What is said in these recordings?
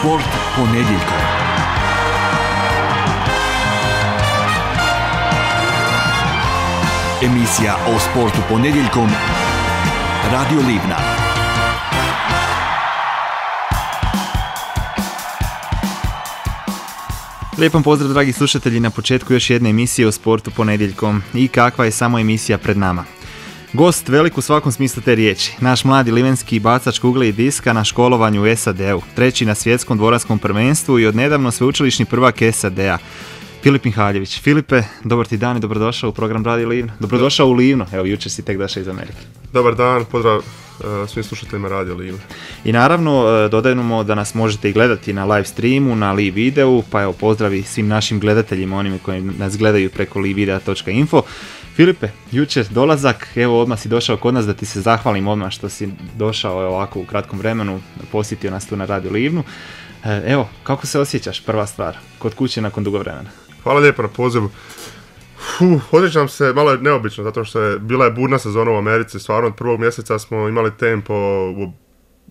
Sport ponedjeljkom. Emisija o sportu ponedjeljkom. Radio Livna. Lijepom pozdrav dragi slušatelji na početku još jedne emisije o sportu ponedjeljkom. I kakva je samo emisija pred nama. Gost velik u svakom smislu te riječi. Naš mladi livenski bacač kugle i diska na školovanju u SAD-u. Treći na svjetskom dvoranskom prvenstvu i odnedavno sveučilišni prvak SAD-a. Filip Mihaljević. Filipe, dobar ti dan i dobrodošao u program Radio Livno. Dobrodošao u Livno. Evo, jučer si tek došao iz Amerike. Dobar dan, pozdrav svim slušateljima Radio Livno. I naravno, dodajemo da nas možete i gledati na live streamu, na live videu, pa evo pozdravi svim našim gledateljima, onima koji nas gledaju preko livevidea.info. Filipe, jučer dolazak, evo odmah si došao kod nas da ti se zahvalim odmah što si došao ovako u kratkom vremenu, posjetio nas tu na Radio Livnu. Evo, kako se osjećaš, prva stvar, kod kuće nakon dugo vremena? Hvala lijepo na pozivu. Osjećam se, malo je neobično, zato što je bila je burna sezona u Americi, stvarno od prvog mjeseca smo imali tempo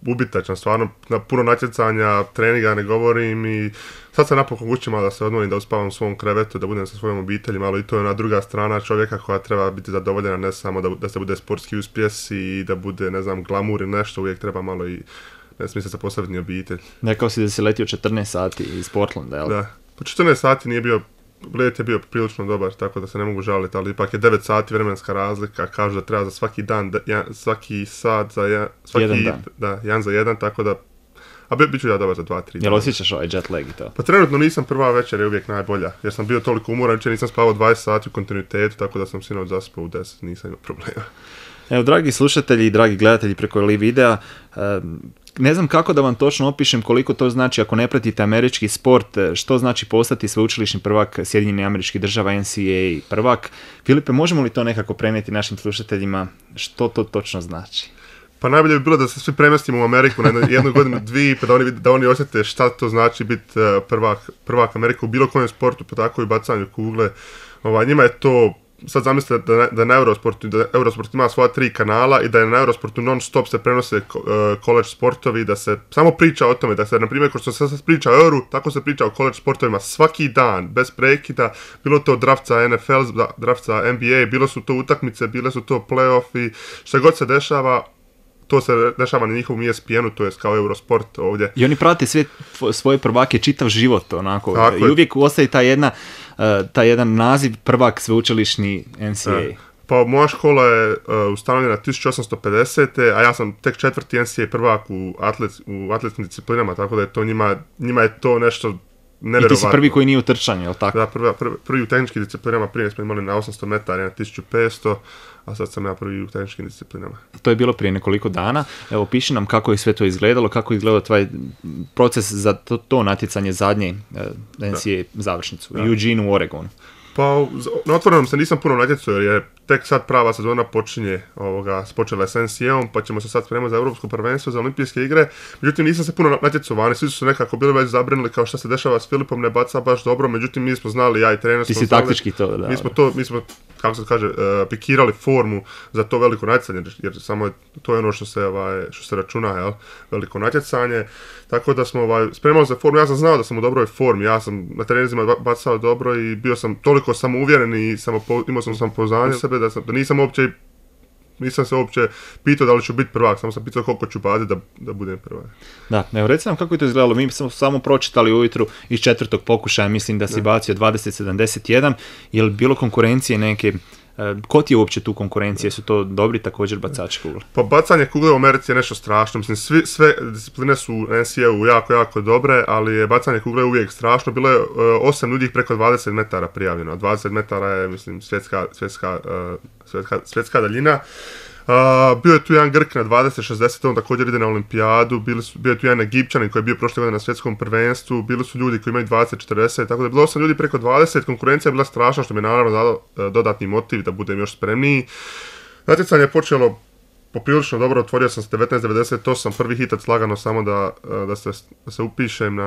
ubitačan, stvarno na puno natjecanja, treninga ne govorim i sad sam napokon kući malo da se odmorim, da uspavam u svom krevetu, da budem sa svojom obitelji, malo i to je ona druga strana čovjeka koja treba biti zadovoljena, ne samo da se bude sportski uspjes i da bude, ne znam, glamur ili nešto, uvijek treba malo i ne smije se postaviti ni obitelj. Rekao si da si letio 14 sati iz Portlanda, jel? Da, po 14 sati nije bio, let je bio prilično dobar, tako da se ne mogu žaliti, ali ipak je 9 sati vremenska razlika, kažu da treba za svaki dan, svaki sat za jedan dan. Da, jedan za jedan, tako da, a bit ću ja dobar za 2-3 dana. Jel osjećaš ovaj jet lag i to? Pa trenutno nisam, prva večer je uvijek najbolja, jer sam bio toliko umoran, jučer nisam spavao 20 sati u kontinuitetu, tako da sam sinoć zaspao u 10, nisam imao problema. Evo, dragi slušatelji i dragi gledatelji preko live videa, ne znam kako da vam točno opišem koliko to znači ako ne pratite američki sport, što znači postati sveučilišni prvak Sjedinjenih Američkih Država, NCAA prvak. Filipe, možemo li to nekako prenijeti našim slušateljima, što to točno znači? Pa najbolje bi bilo da se svi premjestimo u Ameriku na jednu godinu, dvije, pa da oni osjete šta to znači biti prvak Amerike u bilo kojem sportu, pa tako i bacanju kugle. Njima je to, sad zamislite da na Eurosport ima svoja 3 kanala i da je na Eurosportu non stop se prenose college sportovi, da se samo priča o tome, da se, na primjer, kao što se sad priča o Euru, tako se priča o college sportovima svaki dan, bez prekida, bilo to drafca NFL, drafca NBA, bilo su to utakmice, bile su to play-offi, što god se dešava, to se dešava na njihovom ESPN-u, to je kao Eurosport ovdje. I oni prate sve svoje prvake čitav život, onako, tako i uvijek ostaje taj jedan naziv prvak sveučilišni NCAA. Pa moja škola je ustanovljena 1850. a ja sam tek 4. NCAA prvak u atletskim disciplinama, tako da je to njima je to nešto nevjerovatno. I ti si prvi koji nije u trčanju, je li tako? Da, prvi u tehničkim disciplinama, prije smo imali na 800 metara, na 1500, a sad sam ja prvi u tehničkim disciplinama. To je bilo prije nekoliko dana. Evo, piši nam kako je sve to izgledalo, kako je izgledao tvoj proces za to natjecanje zadnje NCAA završnicu u Eugene u Oregonu. Pa na otvorenom se nisam puno natjecao jer je tek sad prava sezona počela je s NCAA-om, pa ćemo se sad spremati za Europsko prvenstvo, za Olimpijske igre. Međutim, nisam se puno natjecao vani, svi su se nekako bili već zabrinuli kao šta se dešava s Filipom, ne baca baš dobro, međutim mi smo znali, ja i trener smo znali. Ti si taktički to, da. Mi smo kako se kaže, pikirali formu za to veliko natjecanje, jer samo to je ono što se računa, jel? Veliko natjecanje. Tako da smo spremali za formu, ja sam znao da sam u dobroj formi, ja sam na treninzima bacao dobro i bio sam toliko samouvjeren i imao sam samopouzdanje sebe da nisam se uopće pitao da li ću biti prvak, samo sam pitao koliko ću baditi da budem prvak. Da, evo reci nam kako je to izgledalo, mi smo samo pročitali ujutru iz 4. pokušaja, mislim da si bacio 20-71, je li bilo konkurencije neke? Ko ti je uopće tu konkurencije? Su to dobri također bacači kugle? Pa bacanje kugle u Americi je nešto strašno. Mislim, sve discipline su u NCAA-u jako, jako dobre, ali je bacanje kugle uvijek strašno. Bilo je 8 ljudi preko 20 metara prijavljeno. 20 metara je, mislim, svjetska daljina. Bio je tu jedan Grk na 20-60, on također ide na olimpijadu, bio je tu jedan Egipćanin koji je bio prošle godine na svjetskom prvenstvu, bili su ljudi koji imaju 20-40, tako da je bilo 8 ljudi preko 20, konkurencija je bila strašna, što mi je naravno dalo dodatni motiv da budem još spremniji. Natjecanje je počelo poprilično dobro, otvorio sam se 19.98, prvi hitac lagano samo da se upišem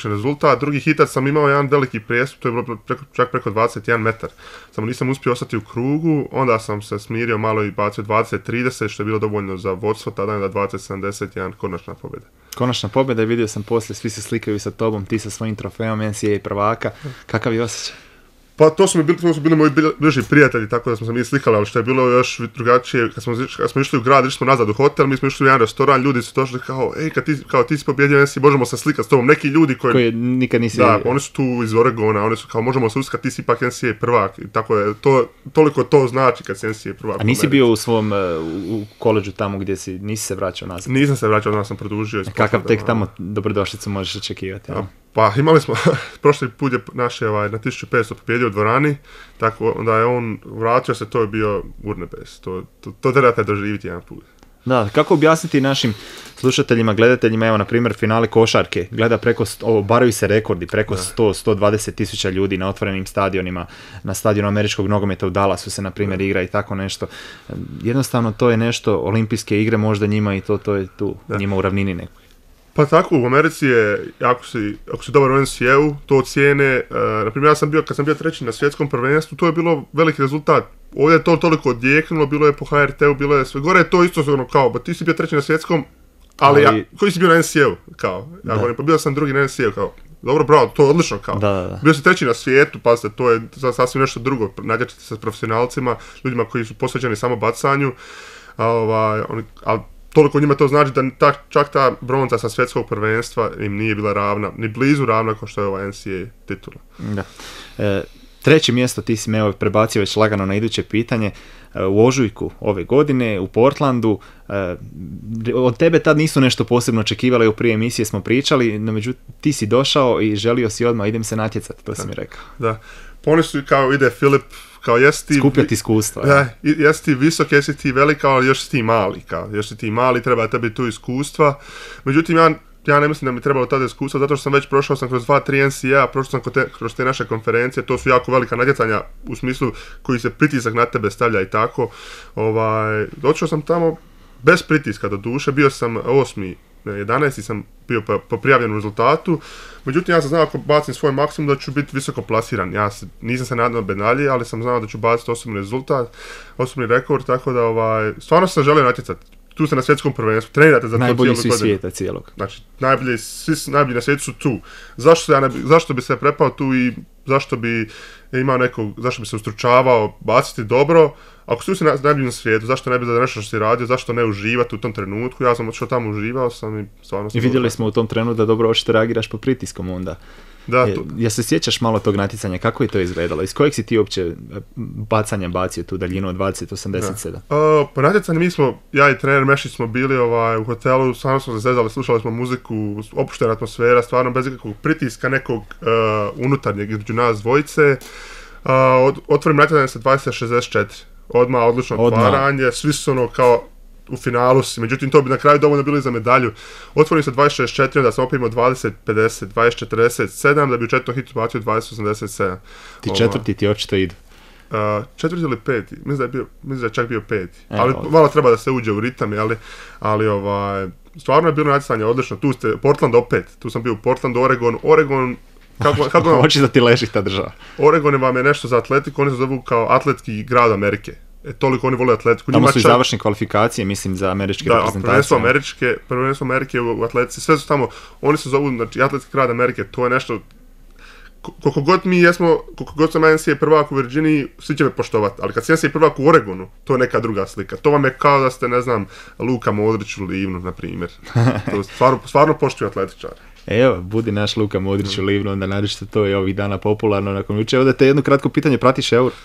rezultat, drugi hitac sam imao jedan veliki prijestup, to je bilo čak preko 21 metar, samo nisam uspio ostati u krugu, onda sam se smirio malo i bacio 20.30, što je bilo dovoljno za vodstvo, tada je da 20.71 konačna pobjeda. Konačna pobjeda i vidio sam poslije, svi se slikaju sa tobom, ti sa svojim trofejom NCAA prvaka. Kakav je osjećaj? Pa to su bili moji bliži prijatelji, tako da smo se mi slikali, ali što je bilo još drugačije, kad smo išli u grad, išli smo nazad u hotel, mi smo išli u jedan restoran, ljudi su došli kao, ti si pobjedio, možemo se slikati s tobom, neki ljudi koji nikad nisi... Da, oni su tu iz Oregona, oni su kao, možemo se uskati, ti si ipak NCAA prvak, i tako je, toliko to znači kad si NCAA prvak. A nisi bio u svom, u koleđu tamo gdje nisi se vraćao nazad? Nisam se vraćao, onda sam produžio. Kakav tek tamo dobrodošlicu možeš očekivati? Pa imali smo, prošli put je naš na 1500 pobjedio u dvorani, tako onda je on vratio se, to je bio urnebes, to trebate doživjeti jedan put. Da, kako objasniti našim slušateljima, gledateljima, evo na primjer finale košarke, gleda obaraju se rekordi, preko 100-120 tisuća ljudi na otvorenim stadionima, na stadionu američkog nogometa u Dallasu se na primjer igra i tako nešto. Jednostavno to je nešto, olimpijske igre možda njima i to je tu, njima u ravnini nekoj. Pa tako, u Americi je, ako si dobar u NCAA-u, to cijene, naprimjer kad sam bio treći na svjetskom prvenstvu, to je bilo veliki rezultat. Ovdje je to toliko odjeknulo, bilo je po HRT-u, bilo je sve gore, je to isto kao, ti si bio treći na svjetskom, ali koji si bio na NCAA-u, kao, pa bio sam drugi na NCAA-u, kao, dobro, bravo, to je odlično, kao, bio si treći na svijetu, pazite, to je sasvim nešto drugo, nađačite se s profesionalcima, ljudima koji su posvećeni samo bacanju, ali toliko njima to znači da čak ta bronza sa svjetskog prvenstva im nije bila ravna, ni blizu ravna kao što je ova NCAA titula. Da. Treće mjesto ti si me prebacio već lagano na iduće pitanje. U ožujku ove godine u Portlandu. Od tebe tad nisu nešto posebno očekivali, u prije emisije smo pričali, no međutim ti si došao i želio si odmah idem se natjecati, to si mi rekao. Da, pa oni su kao ide Filip, kao jesi ti... Skupljati iskustva. Da, jesi ti visok, jesi ti velika, ali još si ti mali, kao, još si ti mali, treba tebi tu iskustva. Međutim, ja ne mislim da mi trebalo tada iskustva, zato što sam već prošao sam kroz 2-3 NCAA, prošao sam kroz te naše konferencije, to su jako velika natjecanja u smislu koji se pritisak na tebe stavlja i tako. Došao sam tamo bez pritiska do duše, bio sam 11. sam bio po prijavljenom rezultatu, međutim ja sam znao ako bacim svoj maksimum da ću biti visoko plasiran, nisam se nadao medalji, ali sam znao da ću baciti osobni rezultat, osobni rekord, tako da stvarno sam želio natjecati. Tu ste na svjetskom prvenstvu, trenirate za to cijelu godinu. Najbolji svi svijeta cijelog. Znači, najbolji na svijetu su tu. Zašto bi se prepao tu i zašto bi se ustručavao baciti dobro? Ako si na najboljim svijetu, zašto ne bi da nešto što si radio, zašto ne uživati u tom trenutku? Ja sam otišao tamo, uživao sam i stvarno sam... I vidjeli smo u tom trenutku da dobro očito reagiraš pod pritiskom onda. Da, ja se sjećaš malo tog natjecanja, kako je to izgledalo? Iz kojeg si ti uopće bacanja bacio tu daljinu od 20-87? Po natjecanju ja i trener Mešić smo bili u hotelu, stvarno smo se zezali, slušali smo muziku, opuštena atmosfera, stvarno bez ikakvog pritiska, nekog unutarnjeg između nas dvojice. Otvorim natjecanje sa 20-64, odmah odlično otvaranje, svi su kao u finalu si, međutim to bi na kraju dovoljno bilo i za medalju. Otvorim se 26-4, da sam opet imao 20-50, 20-47, da bi u četvrtom hitu bacio 20-87. Ti četvrti ti očito idu. Četvrti ili peti, mislim da je čak bio peti. Ali malo treba da se uđe u ritam, ali stvarno je bilo natjecanje odlično. Tu ste, Portland opet, tu sam bio u Portlandu, Oregon, kako hoće da ti leži ta država. Oregon vam je nešto za atletiku, oni se zovu kao atletski grad Amerike. Toliko oni vole atletiku. Tamo su i završne kvalifikacije, mislim, za američke reprezentacije. Da, prvenstvo Amerike u atletici, sve su tamo, oni se zovu, znači, atletski grad Amerike, to je nešto, koliko god mi jesmo, koliko god sam NCAA prvak u Virginiji, svi će me poštovati, ali kad si NCAA prvak u Oregonu, to je neka druga slika. To vam je kao da ste, ne znam, Luka Modrić u Livnu, na primjer. To stvarno poštuju atletičare. Evo, budi naš Luka Modrić u Livnu, onda nađete to je ovih dana popularno nakon juče. Ovdje te jedno kratko pitanje, pratiš Euro?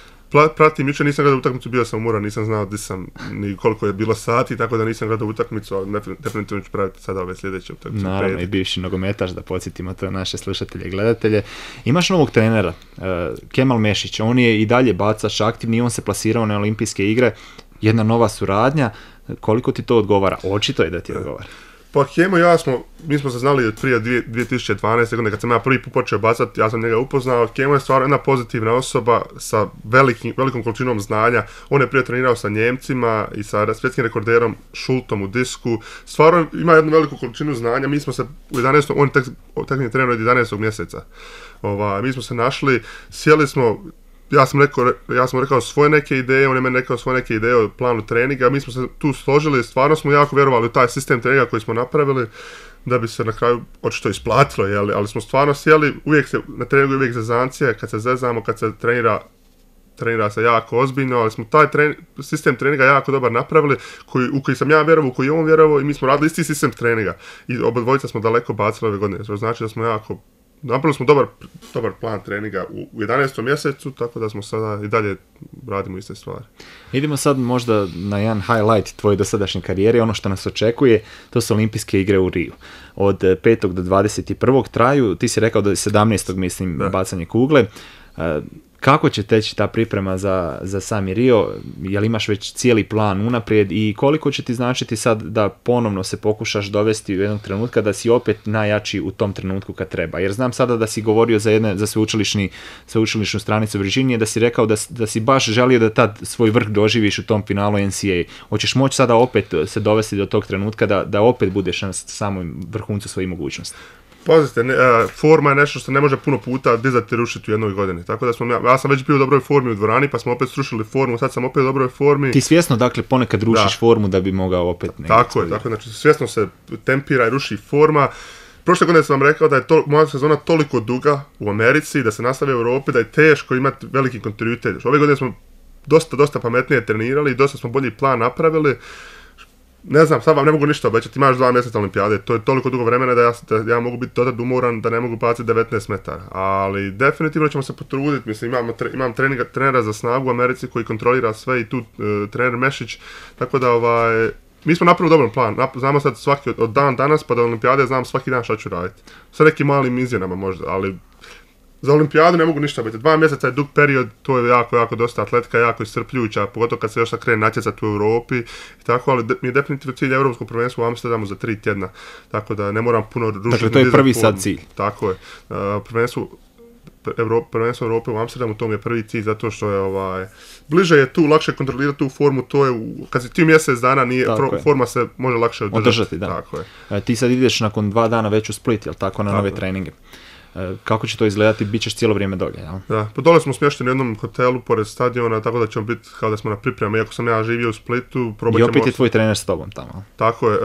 Pratim, jučer nisam gledao utakmicu, bio sam umoran, nisam znao gdje sam ni koliko je bilo sati, tako da nisam gledao utakmicu, ali definitivno ću praviti sada ove sljedeće utakmice. Naravno, i bivši nogometaš, da podsjetimo to naše slušatelje i gledatelje. Imaš novog trenera, Kemal Mešić, on je i dalje bacač aktivni, on se plasirao na olimpijske igre, jedna nova suradnja, koliko ti to odgovara? Očito je da ti odgovara. Pa Kemo i ja mi smo se znali od prije 2012. godine kad sam ja prvi put počeo bacati, ja sam njega upoznao. Kemo je stvarno jedna pozitivna osoba sa velikom količinom znanja. On je prije trenirao sa Njemcima i sa svjetskim rekorderom Šultom u disku. Stvarno ima jednu veliku količinu znanja. Mi smo se u 11. on tek je trener od 11. mjeseca. Mi smo se našli, sjeli smo, ja sam rekao svoje neke ideje, on je meni rekao svoje neke ideje o planu treninga, mi smo se tu složili, stvarno smo jako vjerovali u taj sistem treninga koji smo napravili, da bi se na kraju očito isplatilo, ali smo stvarno sjeli, na treningu uvijek zezancije, kad se zezamo, kad se trenira se jako ozbiljno, ali smo taj sistem treninga jako dobar napravili, u koji sam ja vjerovao, u koji je on vjerovao i mi smo radili isti sistem treninga. I obadvojica smo daleko bacili ove godine, to znači da smo napravili smo dobar plan treninga u 11. mjesecu, tako da smo sada i dalje radimo iste stvari. Idemo sad možda na jedan highlight tvoje dosadašnje karijere, ono što nas očekuje, to su olimpijske igre u Riju. Od 5. do 21. traju, ti si rekao do 17. mislim bacanje kugle. Kako će teći ta priprema za sami Rio? Jel imaš već cijeli plan unaprijed i koliko će ti značiti sad da ponovno se pokušaš dovesti u jednog trenutka da si opet najjači u tom trenutku kad treba? Jer znam sada da si govorio za sveučilišnu stranicu Virginije, da si rekao da si baš želio da tad svoj vrh doživiš u tom finalu NCAA. Hoćeš moći sada opet se dovesti do tog trenutka da opet budeš na samom vrhuncu svojih mogućnosti? Pazite, forma je nešto što ne može puno puta dizati i rušiti u jednoj godini. Tako da ja sam već bio u dobroj formi u dvorani, pa smo opet srušili formu, sad sam opet u dobroj formi. Ti svjesno, dakle, ponekad rušiš formu da bi mogao opet... Tako je, znači svjesno se tempira i ruši forma. Prošle godine sam vam rekao da je moja sezona toliko duga u Americi, da se nastavi u Europi, da je teško imati veliki kontinuitet. Ove godine smo dosta pametnije trenirali i dosta smo bolji plan napravili. Ne znam, sad vam ne mogu ništa obećati, imaš 2 mjeseca olimpijade, to je toliko dugo vremena da ja mogu biti dotad umoran da ne mogu baciti 19 metara, ali definitivno ćemo se potruditi, mislim imam trenera za snagu u Americi koji kontrolira sve i tu trener Mešić, tako da mi smo napravili dobar plan, znamo sad svaki od danas pa do olimpijade znam svaki dan šta ću raditi, sa nekim malim izmjenama možda, ali za olimpijadu ne mogu ništa biti. 2 mjeseca je dug period, to je jako dosta atletika, jako iscrpljujuća, pogotovo kad se još sad krene natjecati u Europi i tako, ali mi je definitivno cilj Europsko prvenstvo u Amsterdamu za 3 tjedna, tako da ne moram puno rušiti. Dakle, to je prvi sad cilj. Tako je. Prvenstvo Europe u Amsterdamu, to mi je prvi cilj, zato što je bliže je tu, lakše kontrolirati tu formu, to je, kad si ti mjesec dana, forma se može lakše održati. Da. Tako je. Ti sad ideš nakon 2 dana već u Split, jel tako, na nove treninge? Kako će to izgledati, bit ćeš cijelo vrijeme dolje, jel? Da, pa dole smo smješteni u jednom hotelu pored stadiona, tako da ćemo biti kao da smo na pripremi, iako sam ja živio u Splitu. I opet je tvoj trener s tobom tamo. Tako je,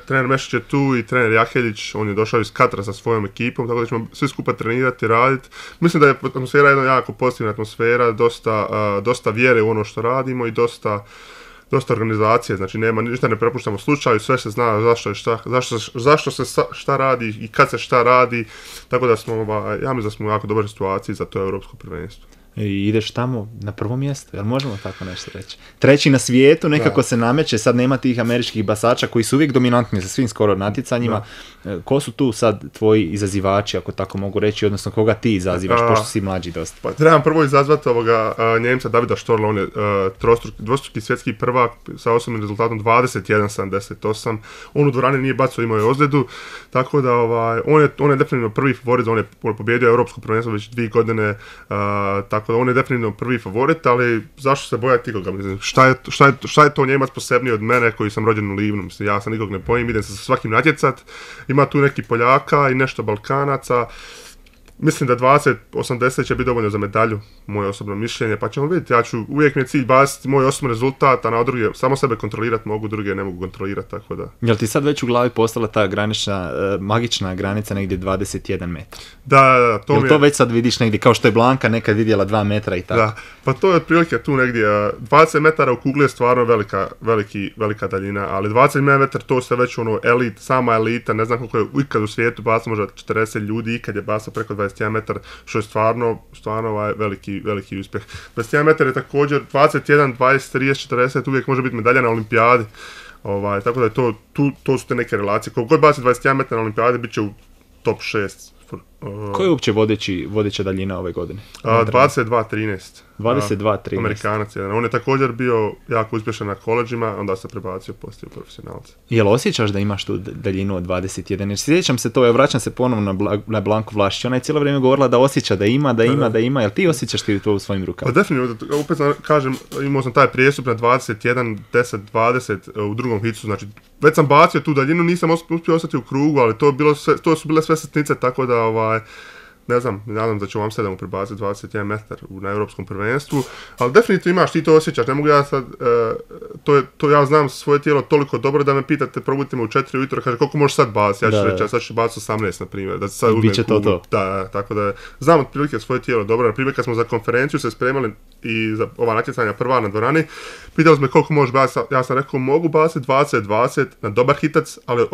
trener Mešić je tu i trener Jaheljić, on je došao iz Katra sa svojom ekipom, tako da ćemo svi skupa trenirati, raditi. Mislim da je atmosfera jedna jako pozitivna atmosfera, dosta vjere u ono što radimo i dosta organizacije, znači ništa ne prepuštamo slučaju, sve se zna zašto se šta radi i kad se šta radi, tako da smo, ja mislim da smo u jako dobroj situaciji za to europsko prvenstvo. I ideš tamo na prvo mjesto, jel možemo tako nešto reći? Treći na svijetu, nekako se nameće, sad nema tih američkih basača koji su uvijek dominantni za svim skoro natjecanjima. Ko su tu sad tvoji izazivači, ako tako mogu reći, odnosno koga ti izazivaš, pošto si mlađi dosta? Pa trebam prvo izazvati Njemca Davida Štorla, on je dvostruki svjetski prvak sa osobnim rezultatom 21-78. On u dvorani nije bacao, imao je ozljedu, tako da on je definitivno prvi favorit, on je pobjedio europsko prvenstvo već 2 godine, tako da on je definitivno prvi favorit, ali zašto se bojati ikoga? Mislim, šta je to Njemac posebniji od mene koji sam rođen u Livnu? Mislim, ja sam nikog ne bojim, idem se sa svakim natjecat, ima tu neki Poljaka i nešto Balkanaca. Mislim da 20-80 će biti dovoljno za medalju, moje osobno mišljenje, pa ćemo vidjeti. Uvijek mi je cilj baciti moj osobni rezultat, a na druge samo sebe kontrolirati mogu, druge ne mogu kontrolirati, tako da. Jel ti sad već u glavi postala ta magična granica negdje 21 metar? Da, to mi je. Jel to već sad vidiš negdje, kao što je Blanka nekad vidjela 2 metra i tako? Da, pa to je otprilike tu negdje, 20 metara u kugli je stvarno velika daljina, ali 20 metara to se već sama elita, ne znam koliko je ikad u svijetu bacilo, možda 40 ljudi ikad je bacilo preko 21 metar, što je stvarno veliki uspjeh. 21 metar je također 21, 20, 30, 40, uvijek može biti medalja na olimpijadi. Tako da je to su te neke relacije. Koliko god baci 21 metar na olimpijadi, bit će u top 6. Ko je uopće vodeća daljina ove godine? 22-13. 22-13. Amerikanac jedan. On je također bio jako uspješan na koleđima, onda se prebacio poslije u profesionalce. Jel osjećaš da imaš tu daljinu od 21? Jer sjećam se to, ja vraćam se ponovno na Blanku Vlašić. Ona je cijelo vrijeme govorila da osjeća da ima. Jel ti osjećaš ti to u svojim rukama? Pa definitivno, opet kažem, imao sam taj prijestup na 21, 10, 20 u drugom hicu, znači već sam bacio tu daljinu, nisam uspio ostati u krugu, ali to su bile sve sitnice, tako da ne znam, nadam da će u Amsterdamu prebaciti 21 metar na europskom prvenstvu, ali definitivno imaš, ti to osjećaš, ne mogu ja sad, to ja znam svoje tijelo toliko dobro da me pitate, probudite me u 4 ujutro, kaže koliko možeš sad baciti, ja ću reći, ja sad ću baciti 18 na primjer, da sad uzmem kugu. Da, tako da znam otprilike svoje tijelo dobro, na primjer kad smo za konferenciju se spremali i za ova natjecanja prva na dvorani, pitali smo me koliko možeš baciti, ja sam rekao mogu baciti 20-20 na dobar hitac, ali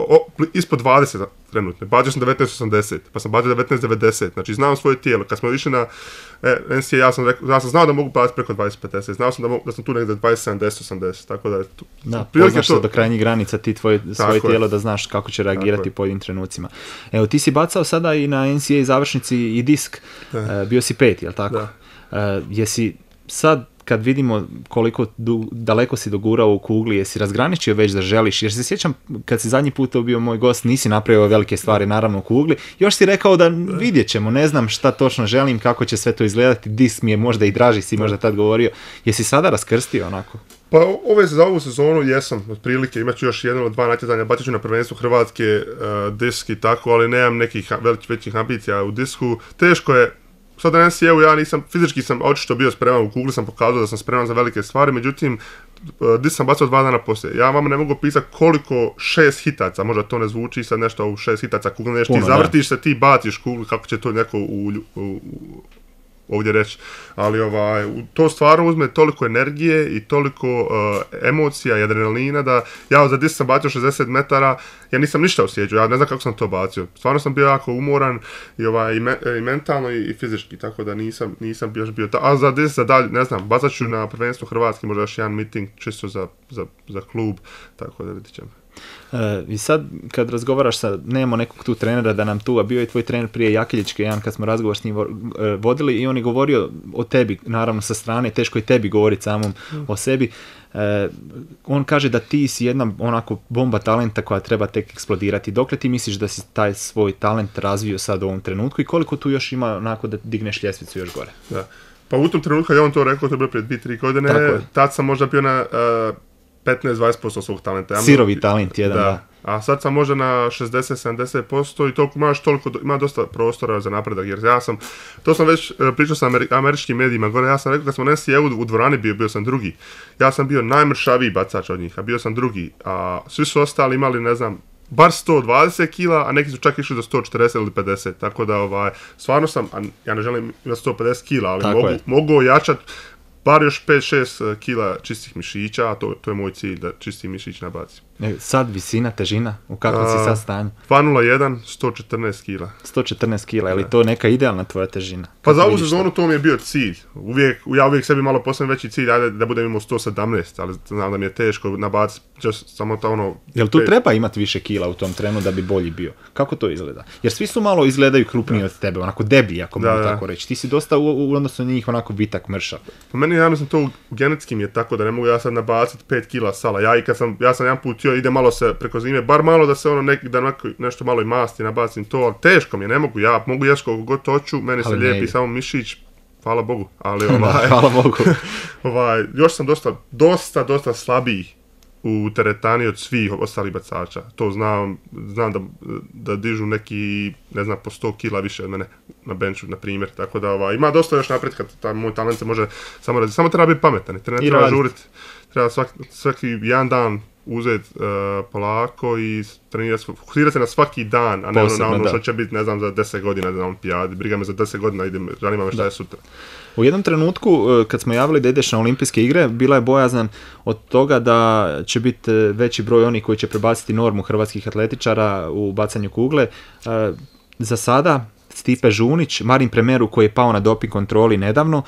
ispod 20 trenutno. Bacio sam 19.80, pa sam bacio 19.90, znači znam svoje tijelo. Kad smo išli na NCAA, ja sam znao da mogu baciti preko 20.50, znao sam da sam tu negdje 27.10.80, tako da je tu. Da, poznaš se do krajnjih granica ti svoje tijelo da znaš kako će reagirati u pojedinim trenucima. Evo, ti si bacao sada i na NCAA završnici i disk, bio si 5, jel tako? Da. Jesi sad, kad vidimo koliko daleko si dogurao u kugli, jesi razgraničio već da želiš, jer se sjećam kad si zadnji put bio moj gost, nisi napravio velike stvari naravno u kugli, još si rekao da vidjet ćemo, ne znam šta točno želim, kako će sve to izgledati, disk mi je možda i draži, si možda tad govorio, jesi sada raskrstio onako? Pa za ovu sezonu jesam, otprilike, imat ću još 1 ili 2 natjecanja, bacit ću na prvenstvu Hrvatske disk i tako, ali nemam nekih većih ambicija u disku, teško je. Sad na NCAA-u ja nisam, fizički sam očito bio spreman, u kugli sam pokazao da sam spreman za velike stvari, međutim, disk sam bacao 2 dana poslije. Ja vam ne mogu pisati koliko 6 hitaca, možda to ne zvuči sad nešto u 6 hitaca kugle, nešto ti zavrtiš se, ti baciš kuglu, kako će to neko ovdje reći, ali to stvarno uzme toliko energije i toliko emocija i adrenalina da ja za disk sam bacio 60 metara, ja nisam ništa osjećao, ja ne znam kako sam to bacio. Stvarno sam bio jako umoran i mentalno i fizički, tako da nisam bio a za disk, za dalje, ne znam, bacat ću na prvenstvu Hrvatske, možda još jedan meeting čisto za klub, tako da vidit ćemo. I sad kad razgovaraš nemamo nekog tu trenera da nam tu, a bio je tvoj trener prije Jakiljičke, jedan kad smo razgovor s njim vodili i on je govorio o tebi, naravno sa strane, teško je tebi govoriti samom o sebi. On kaže da ti si jedna onako bomba talenta koja treba tek eksplodirati. Dokle ti misliš da si taj svoj talent razvio sad u ovom trenutku i koliko tu još ima onako da digneš ljestvicu još gore? Da. Pa u tom trenutku kad je on to rekao, to je bilo prije 2-3 godine, tad sam možda bio na 15-20% svog talenta. Sirovi talent jedan, da. A sad sam možda na 60-70% i toliko ima dosta prostora za napredak, jer to sam već pričao sa američkim medijima gore, ja sam rekao kad smo NCAA u dvorani bio sam drugi. Ja sam bio najmršaviji bacač od njih, a bio sam drugi, a svi su ostali imali, ne znam, bar 120 kila, a neki su čak išli do 140 ili 50, tako da stvarno sam, ja ne želim imati 150 kila, ali mogu ojačati bar još 5-6 kila čistih mišića, a to je moj cilj, da čisti mišić nabacim. Sad visina, težina, u kakvom si sad stanju? 2.01, 114 kila. 114 kila, je li to neka idealna tvoja težina? Pa za ovu sezonu to mi je bio cilj. Ja uvijek sebi malo postavim veći cilj, ajde da budem imao 117, ali znam da mi je teško nabaciti samo to ono... Jel tu treba imati više kila u tom trenu da bi bolji bio? Kako to izgleda? Jer svi su malo izgledaju krupniji od tebe, onako deblji, ako mogu tako reći. Ti si dosta u odnosu na njih onako vitak, mršav. Po meni, ja mislim, to genetski mi je tako da ne mogu ja sad nabaciti 5 kila sala. Ja sam jedan put ide malo se preko zime, bar malo da se nešto malo i masti nabacim to, ali teško mi je, ne mogu, ja mogu jesti koliko god hoću, meni se lijepi samo mišić, hvala Bogu, ali hvala Bogu. Još sam dosta slabiji u teretani od svih ostalih bacača, to znam da dižu neki, ne znam, po 100 kila više od mene na benchu, na primjer, tako da ima dosta još napretka, moj talent se može samo treba biti pametan, ne treba žuriti, treba svaki jedan dan uzeti polako i fokusirati se na svaki dan, a ne na ono što će biti, ne znam, za 10 godina na olimpijadi. Briga me za 10 godina, zanima me šta je sutra. U jednom trenutku, kad smo javili da ideš na olimpijske igre, bila je bojazan od toga da će biti veći broj onih koji će prebaciti normu hrvatskih atletičara u bacanju kugle. Za sada Stipe Žunić, Marin Premeru koji je pao na doping kontroli nedavno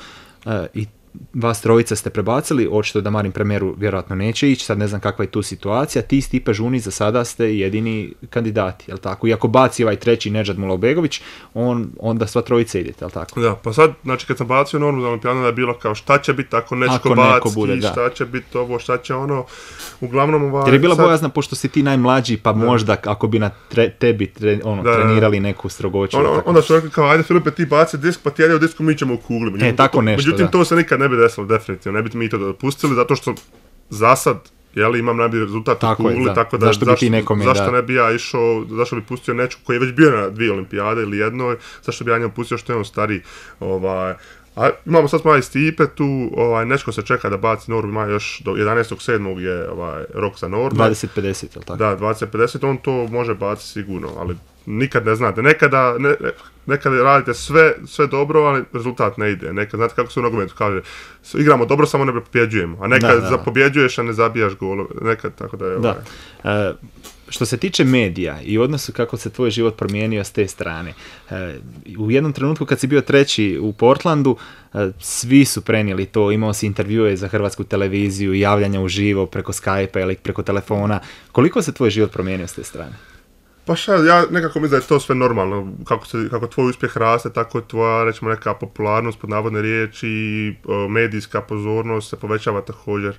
i vas trojica ste prebacili, očito da Marin Premeru vjerojatno neće ići, sad ne znam kakva je tu situacija, ti Stipe Žunić za sada ste jedini kandidati, jel tako? Iako baci ovaj treći Nedžad Mulobegović, onda sva trojica idete, jel tako? Da, pa sad, znači kad sam bacio normu za olimpijadu da je bilo kao šta će biti ako neko baci, šta će biti ovo, šta će ono, uglavnom jer je bila bojazna, pošto si ti najmlađi, pa možda ako bi na tebi trenirali neku strogoću. Onda su rekli kao, ajde Filipe ti baci disk, pa ti ajde u disku, mi ćemo u kugli. Tako nešto, međutim, to se nikad ne bi desilo, definitivno, ne bi mi to dopustili, zato što za sad imam najbolji rezultat u kugli, tako da zašto ne bi ja išao, zašto bi pustio nečku koji je već bio na 2 olimpijade ili jednoj, zašto bi ja njemu pustio što je on stariji. A imamo sad malo i Stipe tu, Nečko se čeka da baci normu, ima još do 11.7. je rok za norme. 20-50, je li tako? Da, 20-50, on to može baciti sigurno, ali nikad ne znate. Nekad radite sve dobro, ali rezultat ne ide. Nekad, znate kako se u nogometu kaže, igramo dobro, samo ne pobjeđujemo. A nekad pobjeđuješ, a ne zabijaš golove. Nekad, tako da je... Što se tiče medija i odnosu kako se tvoj život promijenio s te strane, u jednom trenutku kad si bio 3. u Portlandu, svi su prenijeli to, imao si intervjue za hrvatsku televiziju, javljanja uživo preko Skype-a ili preko telefona. Koliko se tvoj život promijenio s te strane? Pa ja nekako mislim da je to sve normalno, kako tvoj uspjeh raste, tako tvoja, recimo, neka popularnost, pod navodne riječi, medijska pozornost se povećava također.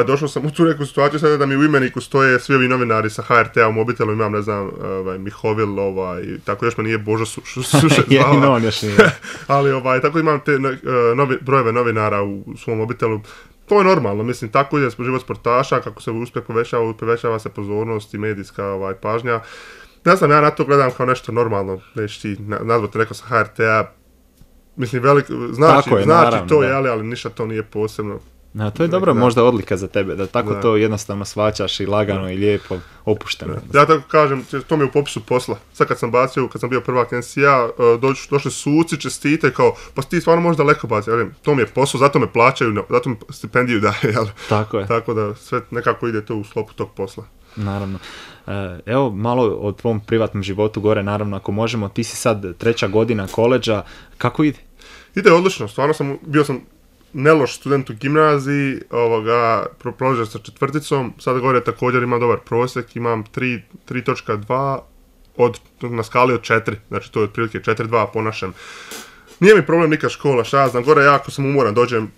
Došao sam u tu neku situaciju sada da mi u imeniku stoje svi ovi novinari sa HRT-a u mobitelu, imam, ne znam, Mihovil, tako još me nije Božo Sušec zvao. Ali tako imam te brojeve novinara u svom mobitelu. To je normalno, mislim, tako ide život sportaša, kako se uspjeh povećava se pozornost i medijska pažnja. Ne znam, ja na to gledam kao nešto normalno, neći ti nazvati neko sa HRT-a, mislim, znači to je, ali ništa to nije posebno. To je dobro, možda odlika za tebe, da tako to jednostavno shvaćaš i lagano i lijepo, opušteno. Ja tako kažem, to mi je u popisu posla. Sad kad sam bio prvak NCAA, došli suci, čestite, kao, pa ti stvarno možeš daleko baciti. To mi je posao, zato me plaćaju, zato mi stipendiju daje. Tako je. Tako da sve nekako ide to u sklopu tog posla. Naravno. Evo malo o tvom privatnom životu gore, naravno, ako možemo, ti si sad 3. godina koledža, kako ide? Ide odlično, stvarno bio sam neloš student u gimnaziji, proložio sa 4, sad gore također imam dobar prosjek, imam 3.2 na skali od 4, znači to je otprilike 4.2 po našem. Nije mi problem nikad škola, šta ja znam, gore jako sam umoran, dođem,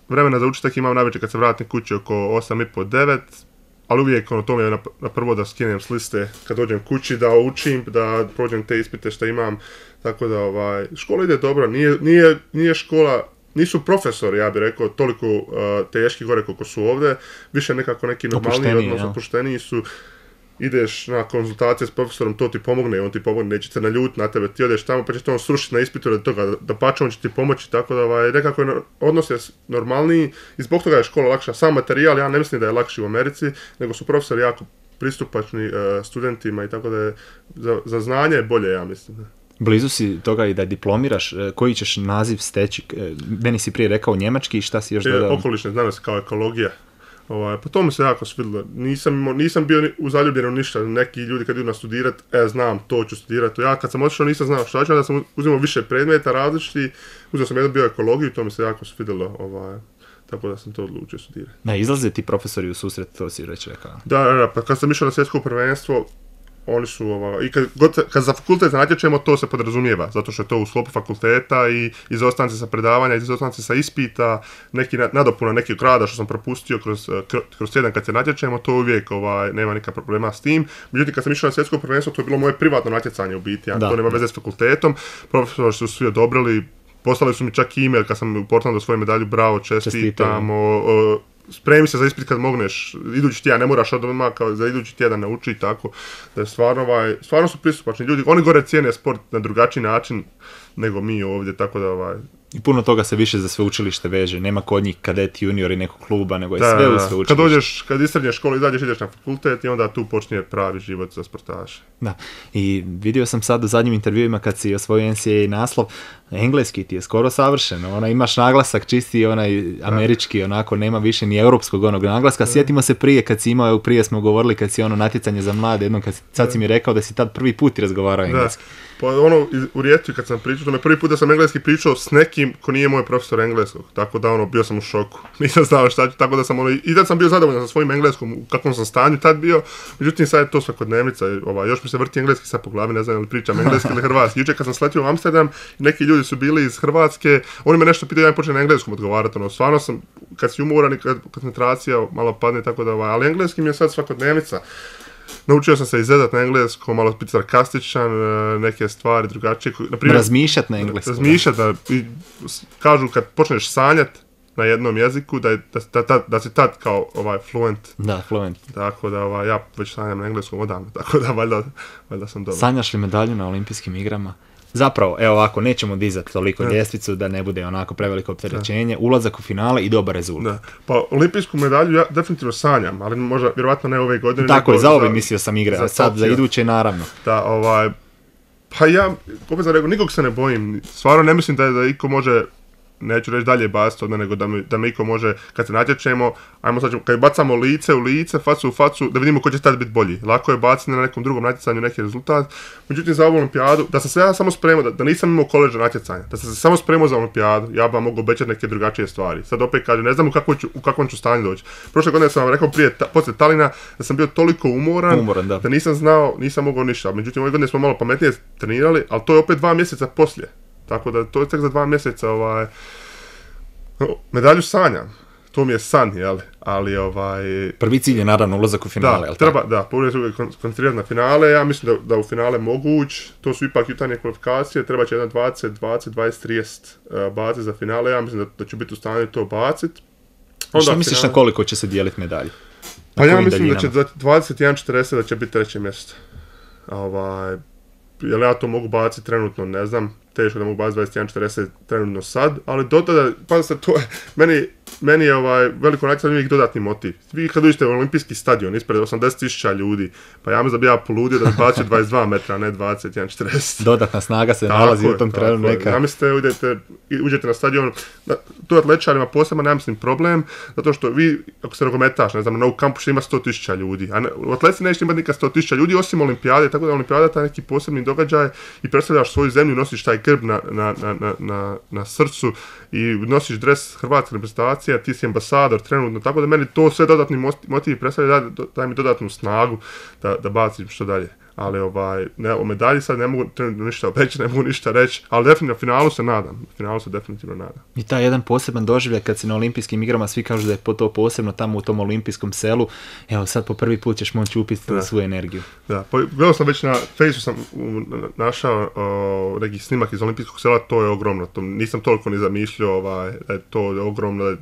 vremena za učiti imam najveće kad se vratim kući oko 8.30-9, ali uvijek to mi je na prvo da skinem s liste kad dođem kući, da učim, da prođem te ispite što imam, tako da škola ide dobro, nije škola, nisu profesori, ja bih rekao, toliko teški gore koliko su ovdje, više nekako neki normalniji, odnosno opušteniji su. Ideš na konzultacije s profesorom, to ti pomogne, on ti pomogne, neće se naljutiti na tebe, ti odeš tamo pa će te on srušiti na ispitu radi toga, da pače on će ti pomoći, tako da nekako je odnos je normalniji i zbog toga je škola lakša. Sam materijal, ja ne mislim da je lakši u Americi, nego su profesori jako pristupačni studentima i tako da je za znanje je bolje, ja mislim. Blizu si toga i da diplomiraš, koji ćeš naziv steći, meni si prije rekao njemački i šta si još dodao? Okolišne znanosti kao ekologija. Pa to mi se jako svidilo. Nisam bio zaljubljen u ništa. Neki ljudi kad idu na studirat, znam, to ću studirati. Ja kad sam otišao nisam znao što ću, da sam uzimao više predmeta različiti. Uzeo sam jedan bio ekologiju, to mi se jako svidilo. Tako da sam to odlučio studirati. Izlaze ti profesori u susret, to si već rekao. Da, pa kad sam išao na svjetsko prvenstvo, oni su, i kad za fakultet natječemo, to se podrazumijeva, zato što je to u sklopu fakulteta i izostanci sa predavanja, izostanci sa ispita, neki nadopuna nekih rada što sam propustio kroz tjedan kad se natječemo, to uvijek nema nikakva problema s tim. Međutim, kad sam išao na svjetsko prvenstvo, to je bilo moje privatno natjecanje u biti, to nema veze s fakultetom, profesori su svi odobrili, poslali su mi čak e-mail kad sam u Portlandu svoju medalju, bravo, čestitam, spremi se za ispit kad mogneš, idući tjedan, ne moraš odmah kao za idući tjedan nauči i tako, da je stvarno su pristupačni ljudi, oni gore cijene sport na drugačiji način nego mi ovdje, tako da I puno toga se više za sveučilište veže, nema kod njih kadet junior i nekog kluba, nego je sve u sveučilištu. Kad isrednješ školu, izađeš, ideš na fakultet i onda tu počinje pravi život za sportaše. Da, i vidio sam sad u zadnjim intervjuima kad si osvojio NCAA naslov, engleski ti je skoro savršen, imaš naglasak čisti onaj američki, onako nema više ni europskog onog naglaska. Sjetimo se prije kad si imao, prije smo govorili kad si natjecanje za mlade, jednom sad si mi rekao da si tad prvi put razgovarao engleski. Pa u Rijeci kad sam pričao, to me prvi put da sam engleski pričao s nekim ko nije moj profesor engleskog, tako da bio sam u šoku. Nisam znao šta ću, tako da sam i da sam bio zadovoljan sa svojim engleskom, u kakvom sam stanju tad bio, međutim sad je to svakodnevnica, još mi se vrti engleski sad po glavi, ne znam li pričam engleski ili hrvatski. Jučer kad sam sletio u Amsterdam, neki ljudi su bili iz Hrvatske, oni me nešto pitaju, ja im počnem na engleskom odgovarati, stvarno sam, kad si umoran i kad koncentracija malo padne, tako da ali engleski mi je sad svakodnevnica. Naučio sam se izvedat na engleskom, malo biti sarkastičan, neke stvari drugačije. Razmišljat na engleskom. Razmišljat, kažu kad počneš sanjat, na jednom jeziku, da si tad kao fluent. Da, fluent. Tako da ja već sanjam na engleskom odavno, tako da valjda sam dobro. Sanjaš li medalju na olimpijskim igrama? Zapravo, evo ovako, nećemo dizati toliko ljestvicu da ne bude onako preveliko opterećenje, ulazak u finale i dobar rezultat. Da. Pa olimpijsku medalju ja definitivno sanjam, ali možda vjerovatno ne ove godine. Tako je, za ove mislio sam igre, a sad za iduće naravno. Da, pa ja, opet sam rekao, nikog se ne bojim, stvarno ne mislim da iko može, neću reći dalje baciti od mene, nego da me iko može, kad se natječemo, ajmo sad, kad bacamo lice u lice, facu u facu, da vidimo ko će tad biti bolji. Lako je baciti na nekom drugom natjecanju neki rezultat. Međutim, za ovu olimpijadu, da sam se ja samo spremao, da nisam imao koleđa natjecanja, da sam se samo spremao za olimpijadu, ja bi vam mogu obećati neke drugačije stvari. Sad opet kažem, ne znam u kakvom ću stanju doći. Prošle godine sam vam rekao poslije Talina, da sam bio toliko umoran da nisam mogao ništa. Međutim, ove godine smo malo pametnije trenirali, ali to je opet 2 mjeseca poslije. Tako da to je tek za 2 mjeseca medalju sanjam. To mi je san, jel? Ali prvi cilj je naravno ulazak u finale, jel? Prvo se koncentrirati na finale, ja mislim da u finale mogu ući, to su ipak jutarnje kvalifikacije, treba će jedan 20, 20-30 baciti za finale, ja mislim da ću biti u stanju to baciti. Što misliš na koliko će se dijeliti medalje? Pa ja mislim da će 21-40 da će biti 3. mjesto. Jel ja to mogu baciti trenutno, ne znam, teško da mogu baciti 21-40 trenutno sad, ali do tada, pa se to je, meni je veliko natjecanje uvijek dodatni motiv. Vi kad uđete u olimpijski stadion ispred 80.000 ljudi, pa ja mislim da bi ja poludio da bi bacio 22 metra, a ne 21-40. Dodatna snaga se nalazi u tom trenu neka. Ja mislim da uđete na stadion, tu atletičarima posebno, ja mislim problem, zato što vi, ako se nogometaš, ne znam, na ovu kampu ima 100.000 ljudi, a u atletici neće imati nikad 100.000 ljudi, osim olimpijade, tako da olimpijada je taj neki posebni događaj i predstavljaš svoju zemlju, nosiš taj grb na srcu i nosiš dres hrvatske reprezentacije, ti si ambasador trenutno, tako da meni to sve dodatni motiv predstavlja, daj mi dodatnu snagu da bacim što dalje. Ali o medalji sad ne mogu trenutno ništa obećati, ne mogu ništa reći, ali definitivno finalu se definitivno nadam. I taj jedan poseban doživljaj kad si na olimpijskim igrama, svi kažu da je to posebno tamo u tom olimpijskom selu, evo sad po prvi put ćeš moći upiti svoju energiju. Da, pa gledao sam već na Facebooku, sam našao neki snimak iz olimpijskog sela, to je ogromno, nisam toliko ni zamišljao da je to ogromno.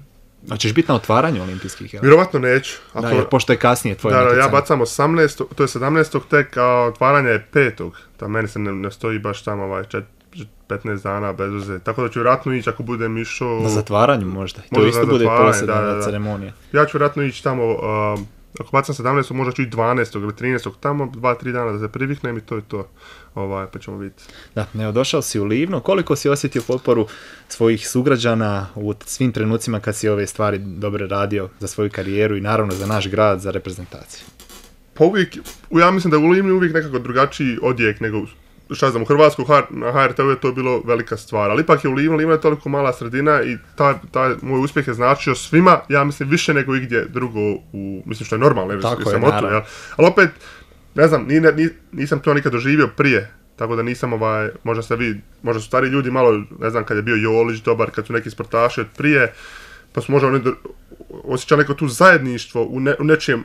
A ćeš biti na otvaranju olimpijskih? Vjerovatno neću. Jer pošto je kasnije tvoje natjecanje. Ja bacam 18. To je 17. tek, a otvaranje je 5. Da meni se ne stoji baš tamo 15 dana bez veze. Tako da ću vjerojatno ići ako budem išao... Na zatvaranju možda. To isto bude posebna ceremonija. Ja ću vjerojatno ići tamo... Ako bacam 17. možda ću ići 12. ili 13. tamo, 2-3 dana da se priviknem i to je to. Pa ćemo vidjeti. Da, došao si u Livno. Koliko si osjetio potporu svojih sugrađana u svim trenucima kad si ove stvari dobro radio za svoju karijeru i naravno za naš grad, za reprezentaciju? Pa uvijek, ja mislim da u Livnu uvijek nekako drugačiji odjek nego šta znam, u Hrvatsku na HRT-u je to bilo velika stvar, ali ipak je u Livno je toliko mala sredina i taj moj uspjeh je značio svima, ja mislim više nego igdje drugo, mislim što je normalno, jer sam otu, ali opet, ne znam, nisam to nikad doživio prije, tako da nisam možda su stari ljudi malo, ne znam, kad je bio Jolić dobar, kad su neki sportaši od prije, pa su možda oni osjećali neko tu zajedništvo u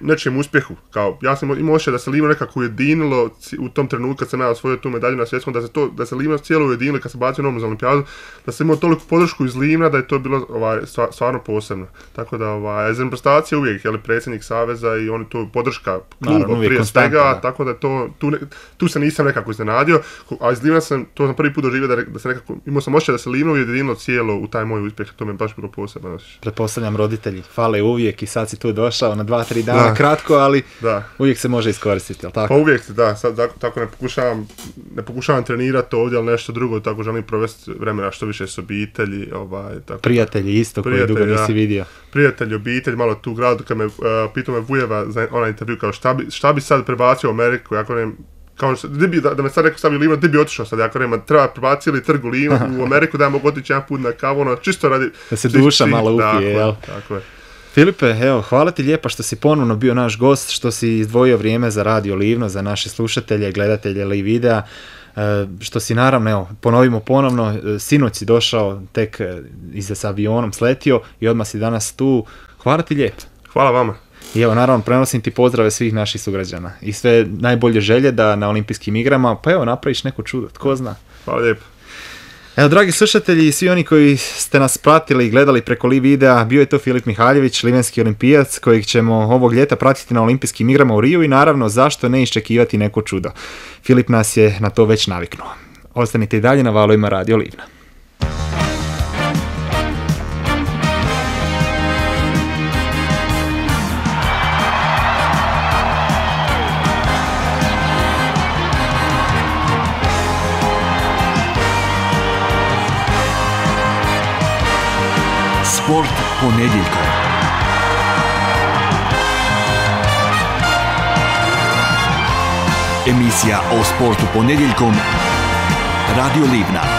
nečijem uspjehu. Kao, ja sam imao osjećaj da se Livno nekako ujedinilo u tom trenutku kad sam ja osvojio tu medalju na svjetskom, da se Livno cijelo ujedinilo kad se bacio novom za olimpijadu, da sam imao toliko podršku iz Livna da je to bilo stvarno posebno. Tako da iz reprezentacije uvijek, predsjednik saveza i oni to podrška kluba prije svega, tako da tu se nisam nekako iznenadio, a iz Livna sam prvi put doživio da se nekako, imao sam osjećaj da se Livno ujedinilo cijelo u taj moj uspjeh, to mi je baš bilo posebno. Pretpostavljam roditelji fale uvijek i sad si tu došao na 2-3 dana kratko, ali uvijek se može iskoristiti, jel tako? Pa uvijek, sad tako ne pokušavam trenirati ovdje, ali nešto drugo, tako želim provesti vremena što više s obitelji. Tako. Prijatelji isto koji dugo nisi vidio. Prijatelji, obitelj, malo tu u gradu, kad me pitao me Vujeva za onaj intervju, kao šta bi sad prebacio u Ameriku, ja kažem, kao da me sad rekao stavi u Livno, gdje bi otišao sad, ja kažem, treba prebaciti ili trg u Ameriku da ja mogu otići jedan put na kavu, čisto radi... Da se duša malo upije, jel? Tako je. Filipe, evo, hvala ti lijepa što si ponovno bio naš gost, što si izdvojio vrijeme za Radio Livno, za naše slušatelje, gledatelje Live videa, što si naravno, evo, ponovimo ponovno, sinoć si došao, tek iza s avionom sletio i odmah si danas tu. Hvala ti lijepo. Hvala vama. I evo, naravno, prenosim ti pozdrave svih naših sugrađana i sve najbolje želje da na olimpijskim igrama, pa evo, napraviš neko čudo, tko zna. Hvala lijepo. Evo, dragi slušatelji i svi oni koji ste nas pratili i gledali preko live videa, bio je to Filip Mihaljević, livenski olimpijac, kojeg ćemo ovog ljeta pratiti na olimpijskim igrama u Riju i naravno zašto ne iščekivati neko čudo. Filip nas je na to već naviknuo. Ostanite i dalje na valovima Radio Livna. Sport ponedjeljkom. Emisija o sportu ponedjeljkom. Radio Livna.